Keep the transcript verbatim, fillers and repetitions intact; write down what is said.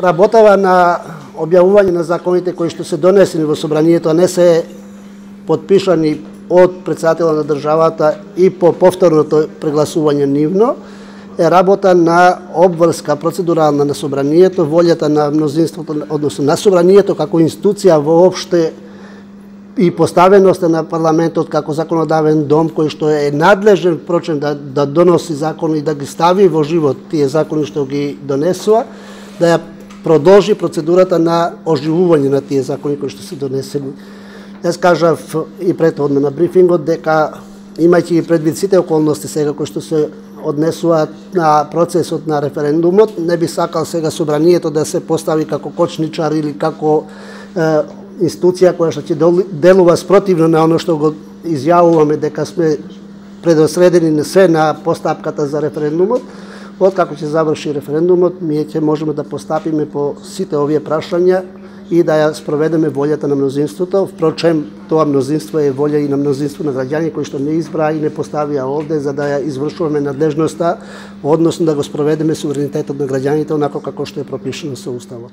работава на објавување на законите кои што се донесени во собранието, а не се подпишани од председателот на државата и по повторното прегласување нивно, е работа на обврска процедурална на собранието, волјата на мнозинството, односно на собранието како институција воопште и поставеноста на парламентот како законодавен дом кој што е надлежен впрочем да, да доноси закони и да ги стави во живот тие закони што ги донесува, да ја продолжи процедурата на оживување на тие закони кои што се донесени. Јас кажав и претходно на брифингот дека имајќи предвид сите околности сега кои што се однесуваат на процесот на референдумот, не би сакал сега собранието да се постави како кочничар или како е, институција која што ќе делува спротивно на оно што го изјавуваме дека сме предосредени на се на постапката за референдумот. Откако ќе заврши референдумот, ние ќе можеме да постапиме по сите овие прашања и да ја спроведеме волјата на мнозинството. Впрочем, тоа мнозинство е волја и на мнозинство на граѓани кои што не избраа и не поставија овде за да ја извршуваме надлежноста, односно да го спроведеме суверенитетот на граѓаните онако како што е пропишано со Уставот.